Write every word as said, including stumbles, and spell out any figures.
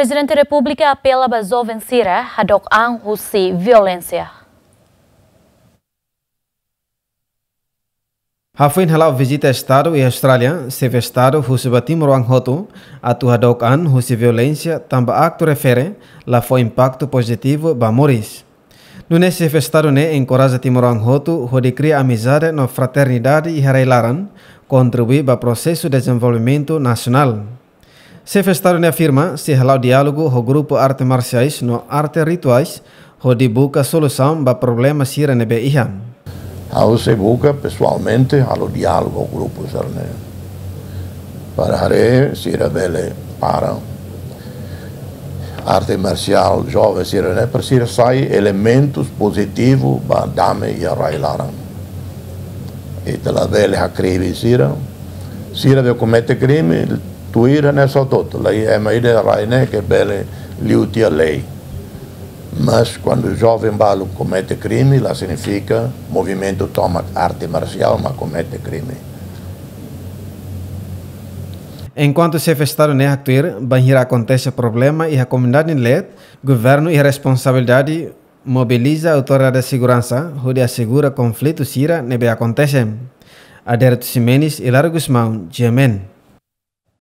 Prezidente Repúblika apela ba joven sira hadook an husi violénsia. Hafoin hala'o vizita Estadu iha Austrália, Xefe Estadu husu ba timoroan hotu atu hadook an husi violénsia tanba aktu refere la fó impaktu pozitivu ba moris. Nune'e Xefe Estadu ne'e enkoraja timoroan hotu hodi kria amizade no fraternidade iha rai-laran, kontribui ba prosesu dezenvolvimentu nasionál. Xefe Estadu ne'e afirma, sei hala'o diálogu ho grupu arte marsiais no arte rituais, hodi buka solusaun ba problema sira ne'ebé iha. Ha'u sei buka pesoalmente halo diálogu ho grupu sira-ne'e. Para haree sira bele para arte marsiál joven sira-ne'e, para sira sai elementus pozitivu ba dame iha rai-laran. Ita labele hakribi sira. Sira be komete krime, tuir hanesan hotu-hotu. La iha ema ida iha rai ne'e ke bele liu tiha lei. Mas kuandu joven balu komete krime, la signifika movimentu tomak arte marsiál mak komete krime. Enkuantu Xefe Estadu ne'e haktuir, bainhira akontese problema iha komunidade nia leet, governu iha responsabilidade mobiliza autoridade seguransa hodi asegura konflitu sira ne'ebé akontese. Adérito Ximenes, Hilário Gusmão, G M N.